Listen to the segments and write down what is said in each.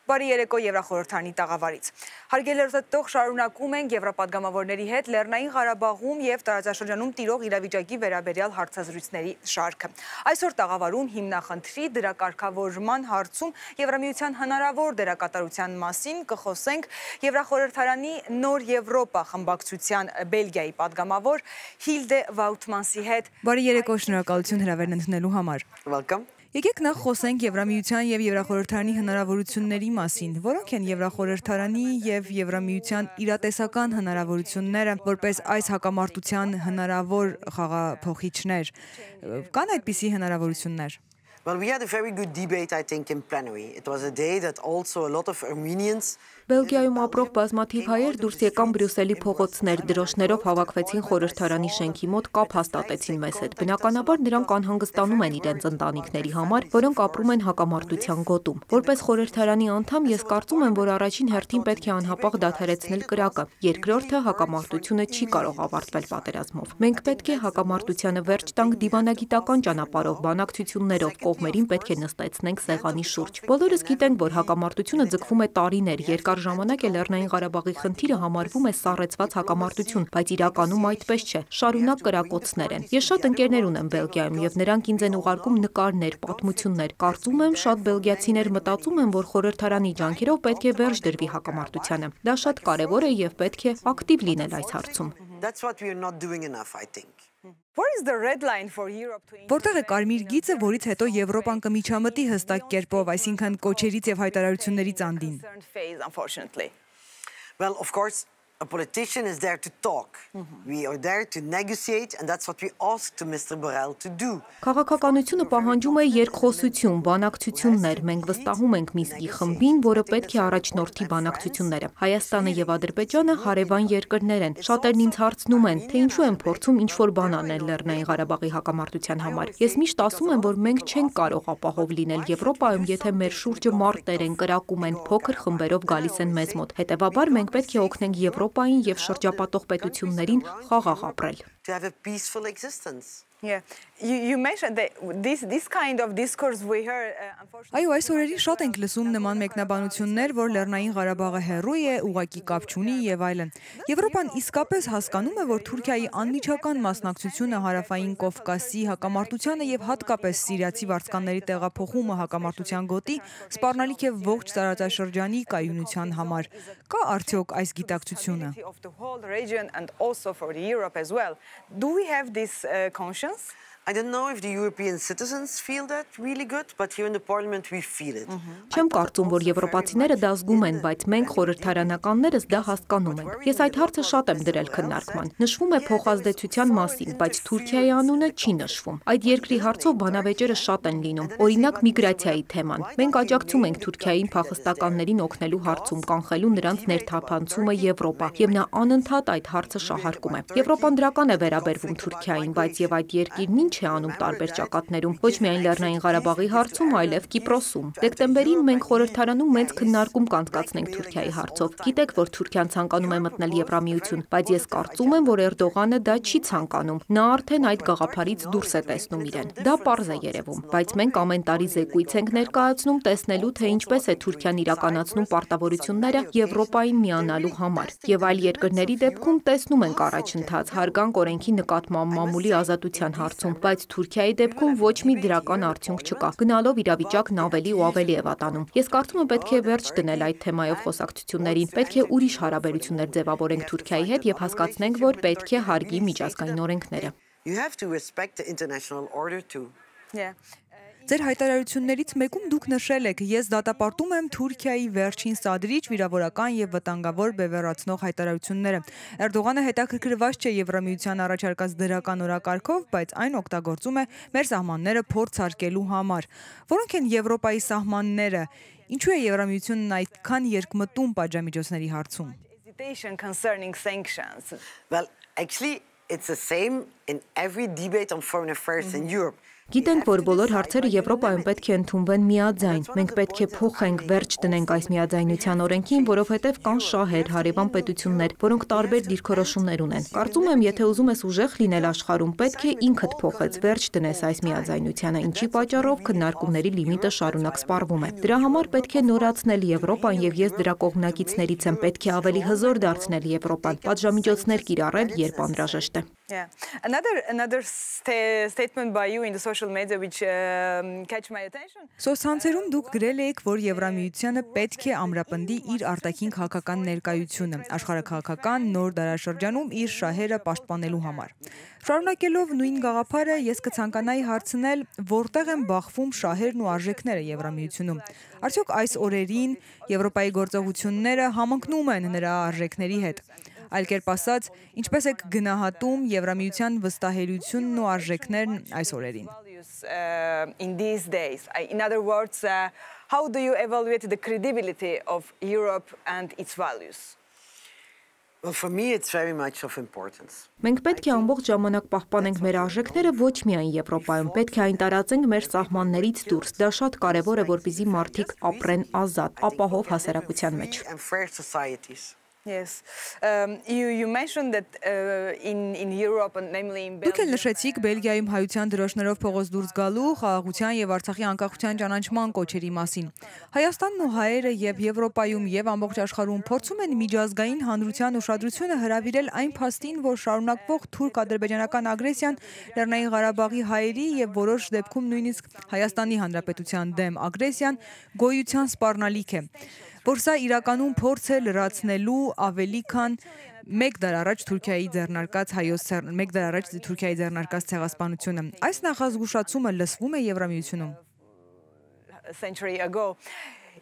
Բարի երեկո Եվրախորհրդանի տաղավարից։ Հարգելի շարունակում ենք Եվրապատգամավորների հետ Լեռնային Ղարաբաղում և տարածաշրջանում տիրող իրավիճակի վերաբերյալ հարցազրույցների շարքը։ Այսօր տաղավարում հիմնախնդրի դրակարգավորման հարցում Եվրամիության հնարավոր դերակատարության մասին կխոսենք Եվրախորհրդարանի Նոր Եվրոպա խմբակցության Բելգիայի պատգամավոր Հիլդե Վաուտմանսի հետ։ Բարի երեկո, շնորհակալություն հրավերն ընդունելու համար։ Welcome. Եկեք նախ խոսենք Եվրամիության և Եվրախորհրդարանի հնարավորությունների մասին, որոնք են Եվրախորհրդարանի և Եվրամիության իրատեսական հնարավորությունները, որպես այս հակամարտության հնարավոր խաղափոխիչներ, կան այդպիսի հնարավորություններ։ Well, we had a very good debate, I think, in plenary. It was a day that also a lot of Armenians Բելգիայում ապրող բազմաթիվ հայեր դուրս եկան Բրյուսելի փողոցներ, դրոշներով հավաքվեցին խորհրդարանի շենքի մոտ, կապ հաստատեցին մեզ հետ։ Բնականաբար նրանք անհանգստանում են իրենց ընտանիքների համար, որոնք ապրում են հակամարտության գոտում։ Որպես խորհրդարանի անդամ ես կարծում եմ, որ առաջին հերթին պետք է անհապաղ դադարեցնել կրակը։ Երկրորդը հակամարտությունը չի կարող ավարտվել պատերազմով։ Մենք պետք է հակամարտությանը վերջ տանք դիվանագիտական ճանապարհով, բանակցություններով, կողմերին պետք է նստեցնենք սեղանի շուրջ։ Բոլորս գիտենք, որ հակամարտությունը ձգվում է տարիներ, երկար ժամանակ է Լեռնային Ղարաբաղի խնդիրը համարվում է սառեցված հակամարտություն, բայց իրականում այդպես չէ։ Շարունակ կրակոցներ են։ Ես շատ ընկերներ ունեմ Բելգիայում եւ նրանք ինձ են ուղարկում նկարներ, պատմություններ։ Կարծում եմ, շատ բելգիացիներ մտածում են, որ խորհրդարանի ջանքերով պետք է վերջ դրվի հակամարտությանը։ Դա շատ կարեւոր է եւ պետք է ակտիվ լինել այս հարցում։ That's what we are not doing enough, I think. Որտեղ է կարմիր գիծը, որից հետո Եվրոպան կմիջամտի հստակ կերպով, այսինքն կոչերից եւ հայտարարություններից անդին։ Well, of course, a politician is there to talk. We are there to negotiate, and that's what we asked to Mr. Borrell to do. Քաղաքականությունը պահանջում է երկխոսություն, բանակցություններ։ Մենք վստահում ենք Մինսկի խմբին, որը պետք է առաջնորդի բանակցությունները։ Հայաստանը եւ Ադրբեջանը հարևան երկրներ են։ Շատերն ինձ հարցնում են, թե ինչու են փորձում ինչ-որ բան անել Լեռնային Ղարաբաղի հակամարտության համար։ Ես միշտ ասում եմ, որ մենք չենք կարող ապահով լինել Եվրոպայում, եթե մեր շուրջը մարտեր են, կրակում են, փոքր խմբերով գալիս են մեզ մոտ։ Հետևաբար մենք պետք է օգնենք Եվրոպային եւ շրջապատող պետություններին խաղաղ ապրել։ To have a peaceful existence. Yeah, you mentioned that this kind of discourse we heard. Այո, այս օրերին շատ ենք լսում նման մեկնաբանություններ, որ Լեռնային Ղարաբաղը հեռու է, ուղղակի կապ չունի եւ այլն։ Եվրոպան իսկապես հասկանում է, որ Թուրքիայի անմիջական մասնակցությունը Հարավային Կովկասի հակամարտությանը եւ հատկապես սիրիացի վարձկանների տեղափոխումը հակամարտության գոտի սպառնալիք է ողջ տարածաշրջանի կայունության համար։ Կա արդյոք այս գիտակցությունը։ Do we have this conscience? I don't know if the European citizens feel that really good, but here in the Parliament we feel it. Չեմ կարծում, որ եվրոպացիները դա զգում են, բայց մենք խորհրդարանականներս դա հասկանում ենք։ Ես այդ հարցը շատ եմ դրել քննարկման։ Նշվում է փոխազդեցության մասին, բայց Թուրքիայի անունը չի նշվում։ Այդ երկրի հարցով բանավեճերը շատ են լինում։ Օրինակ միգրացիայի թեման։ Մենք աջակցում ենք Թուրքիային փախստականներին օգնելու հարցում, կանխելու նրանց ներթափանցումը Եվրոպա, եւ նա անընդհատ այդ հարցը շահարկում է։ Եվրոպան դրական է վերաբերվում Թուրքիային, բայց եւ այդ երկիրն չէ անում տարբեր ճակատներում, ոչ միայն Լեռնային Ղարաբաղի հարցում, այլև Կիպրոսում։ Դեկտեմբերին մենք խորհրդարանում մեծ քննարկում կանցկացնենք Թուրքիայի հարցով։ Գիտեք, որ Թուրքիան ցանկանում է մտնել Եվրամիություն, բայց ես կարծում եմ, որ Էրդողանը դա չի ցանկանում։ Նա արդեն այդ գաղափարից դուրս է տեսնում իրեն։ Դա պարզ է երևում, բայց մենք ամեն տարի զեկույց ենք ներկայացնում տեսնելու, թե ինչպես է Թուրքիան իրականացնում պարտավորությունները Եվրոպային միանալու համար։ Եվ այլ երկրների դեպքում տեսնում ենք առաջընթաց հարգանք օրենքի նկատմամբ մամուլի ազատության հարցում, բայց Թուրքիայի դեպքում ոչ մի դրական արդյունք չկա։ Գնալով իրավիճակն ավելի ու ավելի է վատանում։ Ես կարծում եմ պետք է վերջ դնել այդ թեմայով խոսակցություններին։ Պետք է ուրիշ հարաբերություններ ձևավորենք Թուրքիայի հետ եւ հասկացնենք, որ պետք է հարգի միջազգային օրենքները։ You have to respect the international order too. Yeah. Ձեր հայտարարություններից մեկում դուք նշել եք, ես դատապարտում եմ Թուրքիայի վերջին սադրիչ, վիրավորական եւ վտանգավոր բևեռացնող հայտարարությունները։ Էրդողանը հետաքրքրված չէ Եվրամիության առաջարկած դրական օրակարգով, բայց այն օգտագործում է մեր սահմանները փորձարկելու համար։ Որոնք են Եվրոպայի սահմանները։ Ինչու է Եվրամիությունն այդքան երկմտում պատժամիջոցների հարցում։ Well, actually, it's the same in every debate on foreign affairs in Europe. Գիտենք, որ բոլոր հարցերը Եվրոպայում պետք է ընդունվեն միաձայն։ Մենք պետք է փոխենք, վերջ դնենք այս միաձայնության օրենքին, որովհետև կան շահեր, հարևան պետություններ, որոնք տարբեր դիրքորոշումներ ունեն։ Կարծում եմ, եթե ուզում ես ուժեղ լինել աշխարհում, պետք է ինքդ փոխես, վերջ դնես այս միաձայնությանը, ինչի պատճառով քննարկումների լիմիտը շարունակ սպառվում է։ Դրա համար պետք է նորացնել Եվրոպան եւ ես դրա կողմնակիցներից եմ, պետք է ավելի հզոր դարձնել Եվրոպան, պատժամիջոցներ կիրառել, երբ անհրաժեշտ է։ Yeah. Another statement by you in the social media which catch my attention. Սոցցանցերում դուք գրել եք, որ Եվրամիությանը պետք է ամրապնդի իր արտաքին քաղաքական ներկայությունը, աշխարհաքաղաքական նոր դարաշրջանում իր շահերը պաշտպանելու համար։ Շարունակելով նույն գաղափարը, ես կցանկանայի հարցնել, որտեղ են բախվում շահերն ու արժեքները Եվրամիությունում։ Արդյոք այս օրերին Եվրոպայի գործողությունները համընկնում են նրա արժեքների հետ։ Այլ կերպ ասած, ինչպես եք գնահատում Եվրամիության վստահելիությունն ու արժեքներն այս օրերին։ In these days, in other words, how do you evaluate the credibility of Europe and its values? Well, for me, it's very much of importance. Մենք պետք է ամբողջ ժամանակ պահպանենք մեր արժեքները ոչ միայն Եվրոպայում, պետք է այն տարածենք մեր սահմաններից դուրս։ Դա շատ կարևոր է, որպեսզի մարդիկ ապրեն ազատ, ապահով հասարակության մեջ։ And fair societies. Yes. You mentioned that in Europe and namely in Belgium. Դուք էլ նշեցիք Բելգիայում հայության դրոշներով փողոց դուրս գալու, խաղաղության եւ Արցախի անկախության ճանաչման կոչերի մասին։ Հայաստանն ու հայերը եւ Եվրոպայում եւ ամբողջ աշխարհում փորձում են միջազգային հանրության ուշադրությունը հրավիրել այն փաստին, որ շարունակվող թուրք-ադրբեջանական ագրեսիան Լեռնային Ղարաբաղի հայերի եւ որոշ դեպքում նույնիսկ Հայաստանի Հանրապետության դեմ ագրեսիան գոյության սպառնալիք է։ Որ սա իրականում փորձ է լրացնելու ավելի քան մեկ դար առաջ Թուրքիայի ձեռնարկած ցեղասպանությունը։ Այս նախազգուշացումը լսվում է Եվրամիությունում։ A century ago.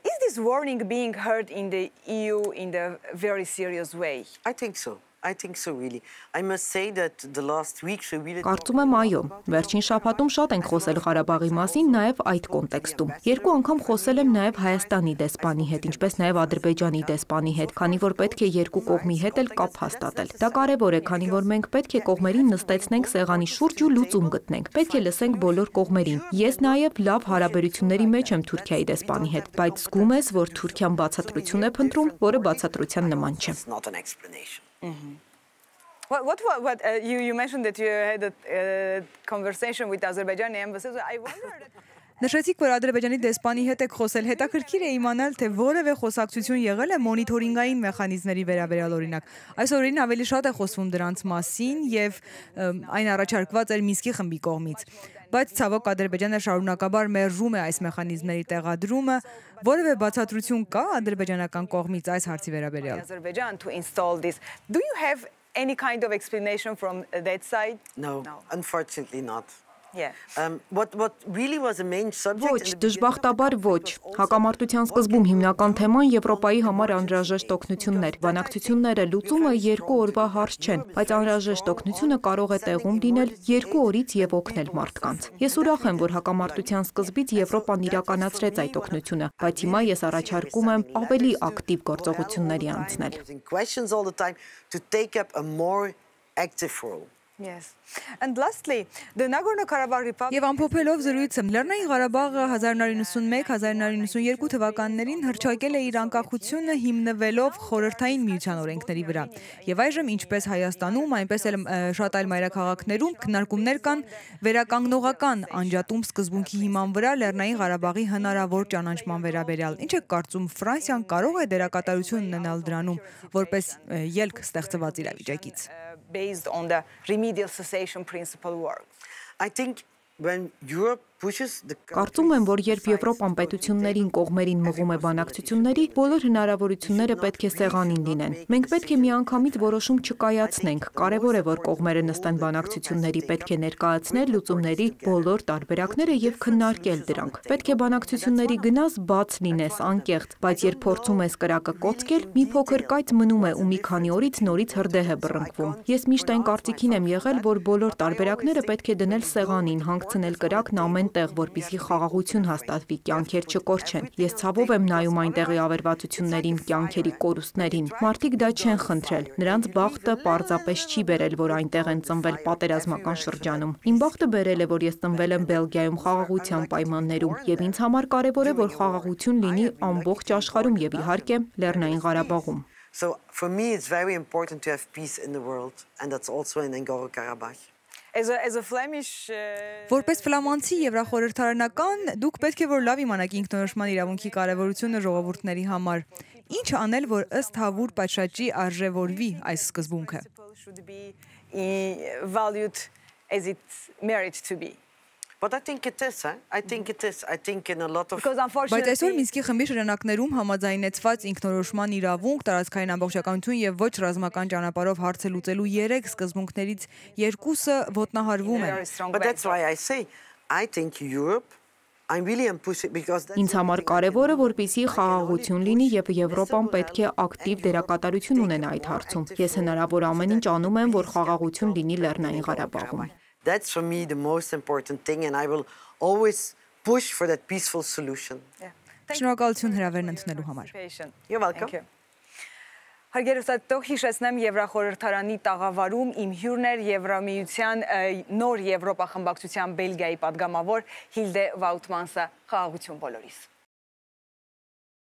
Is this warning being heard in the EU in a very serious way? I think so. I think so, really. I must say that the last weeks we really... Կարծում եմ այո, վերջին շաբաթում շատ ենք խոսել Ղարաբաղի մասին, նաև այդ կոնտեքստում։ Երկու անգամ խոսել եմ նաև Հայաստանի դեսպանի հետ, ինչպես նաև Ադրբեջանի դեսպանի հետ, քանի որ պետք է երկու կողմի հետ էլ կապ հաստատել։ Դա կարևոր է, քանի որ մենք պետք է կողմերին նստեցնենք սեղանի շուրջ ու լուծում գտնենք։ Պետք է լսենք բոլոր կողմերին։ Ես նաև լավ հարաբերությունների մեջ եմ Թուրքիայի դեսպանի հետ, բայց զգում ես, որ Թուրքիան բացատրություն է փնտրում, որը բացատրության նման չէ։ It's not an explanation. You mentioned that you had a conversation with Azerbaijani embassy. I wondered. Նշեցիք, որ Ադրբեջանի դեսպանի հետ եք խոսել, հետաքրքիր է իմանալ, թե որևէ խոսակցություն եղել է մոնիթորինգային մեխանիզմների վերաբերյալ օրինակ։ Այս օրերին ավելի շատ է խոսվում դրանց մասին եւ այն առաջարկված էր Մինսկի խմբի կողմից։ Բայց ցավոք Ադրբեջանը շարունակաբար մերժում է այս մեխանիզմների տեղադրումը, որևէ բացատրություն կա ադրբեջանական կողմից այս հարցի վերաբերյալ։ Azerbaijan to install this. Do you have any kind of explanation from that side? No, unfortunately not. Yeah. What really was the main subject... Ոչ, դժբախտաբար ոչ։ Հակամարտության սկզբում հիմնական թեման Եվրոպայի համար անհրաժեշտ օգնություններ։ Բանակցությունները լուծումը երկու օրվա հարց չեն, բայց անհրաժեշտ օգնությունը կարող է տեղում լինել 2 օրից եւ օգնել մարդկանց։ Ես ուրախ եմ, որ հակամարտության սկզբից Եվրոպան իրականացրեց այդ օգնությունը, բայց հիմա ես առաջարկում եմ ավելի ակտիվ գործողությունների անցնել։ Questions all the time to take up a more active role. Yes. And lastly, the Nagorno-Karabakh Republic... Եվ ամփոփելով զրույցը, Լեռնային Ղարաբաղը 1991-1992 թվականներին հռչակել է իր անկախությունը հիմնվելով խորհրդային միության օրենքների վրա։ Եվ այժմ ինչպես Հայաստանում, այնպես էլ շատ այլ մայրաքաղաքներում քննարկումներ կան վերականգնողական անջատում սկզբունքի հիման վրա Լեռնային Ղարաբաղի հնարավոր ճանաչման վերաբերյալ։ Ինչ եք կարծում, Ֆրանսիան կարող է դերակատարություն ունենալ դրանում, որպես ելք ստեղծված իրավիճակից։ Based on the remedial cessation principle works. I think when Europe pushes the... Կարծում եմ, որ երբ Եվրոպան պետություններին կողմերին մղում է բանակցությունների, բոլոր հնարավորությունները պետք է սեղանին լինեն։ Մենք պետք է միանգամից որոշում չկայացնենք։ Կարևոր է, որ կողմերը նստեն բանակցությունների, պետք է ներկայացնել լուծումների բոլոր տարբերակները եւ քննարկել դրանք։ Պետք է բանակցությունների գնաս բաց լինես, անկեղծ, բայց երբ փորձում ես կրակը կոծկել, մի փոքր կայծ մնում է ու մի քանի օրից նորից հրդեհ է բռնկվում։ Ես միշտ այն կարծիքին եմ եղել, որ բոլոր տարբերակները պետք է դնել սեղանին, հանգցնել կրակն ամեն տեղ, որպեսզի խաղաղություն հաստատվի, կյանքեր չկորչեն։ Ես ցավով եմ նայում այնտեղի ավերվածություններին, կյանքերի կորուստներին։ Մարդիկ դա չեն խնդրել։ Նրանց բախտը պարզապես չի բերել, որ այնտեղ են ծնվել պատերազմական շրջանում։ Իմ բախտը բերել է, որ ես ծնվել եմ Բելգիայում խաղաղության պայմաններում, եւ ինձ համար կարեւոր է, որ խաղաղություն լինի ամբողջ աշխարհում եւ իհարկե Լեռնային Ղարաբաղում։ So for me, it's very important to have peace in the world, and that's also in Nagorno-Karabakh. As a Flemish Որպես ֆլամանցի եվրախորհրդարանական, դուք պետք է որ լավ իմանաք ինքնորոշման իրավունքի կարևորությունը ժողովուրդների համար։ Ինչ անել, որ ըստ հավուր պատշաճի արժևորվի այս սկզբունքը։ should be valued as it merits to be. But I think it is, eh? I think it is. I think in a lot of... Because Բայց այսօր unfortunately, Մինսկի խմբի շրջանակներում համաձայնեցված ինքնորոշման իրավունք, տարածքային ամբողջականություն եւ ոչ ռազմական ճանապարհով հարցը լուծելու 3 սկզբունքներից 2-ը ոտնահարվում են։ very strong But that's backdrop. why I say, I think Europe, I'm really pushing because... that's Ինձ համար կարևոր է, որպեսզի խաղաղություն լինի եւ Եվրոպան պետք է ակտիվ դերակատարություն ունենա այդ հարցում։ Ես հնարավոր ամեն ինչ անում եմ, որ խաղաղություն լինի Լեռնային Ղարաբաղում։ That's for me the most important thing, and I will always push for that peaceful solution. Yeah. Thank Շնորհակալություն հրավերն ընդունելու համար։ you. You're welcome. Thank you. Հարգելի հիշեցնեմ Եվրախորհրդարանի տաղավարում իմ հյուրն էր Եվրամիության նոր Եվրոպա խմբակցության Բելգիայի պատգամավոր Հիլդե Վաուտմանսը։ Խաղաղություն բոլորիս։